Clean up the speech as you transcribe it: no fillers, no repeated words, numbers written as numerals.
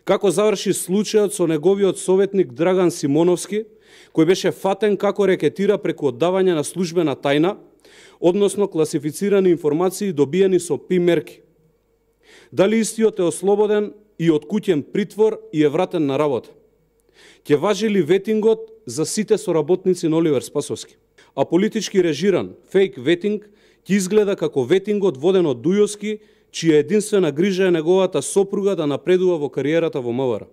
Како заврши случајот со неговиот советник Драган Симоновски, кој беше фатен како рекетира преку оддавање на службена тајна, односно класифицирани информации добиени со ПИ мерки. Дали истиот е ослободен и од куќен притвор и е вратен на работа? Ќе важи ли ветингот за сите соработници на Оливер Спасовски? А политички режиран фейк ветинг ќе изгледа како ветингот воден од Дујовски, чија единствена грижа е неговата сопруга да напредува во кариерата во МВР.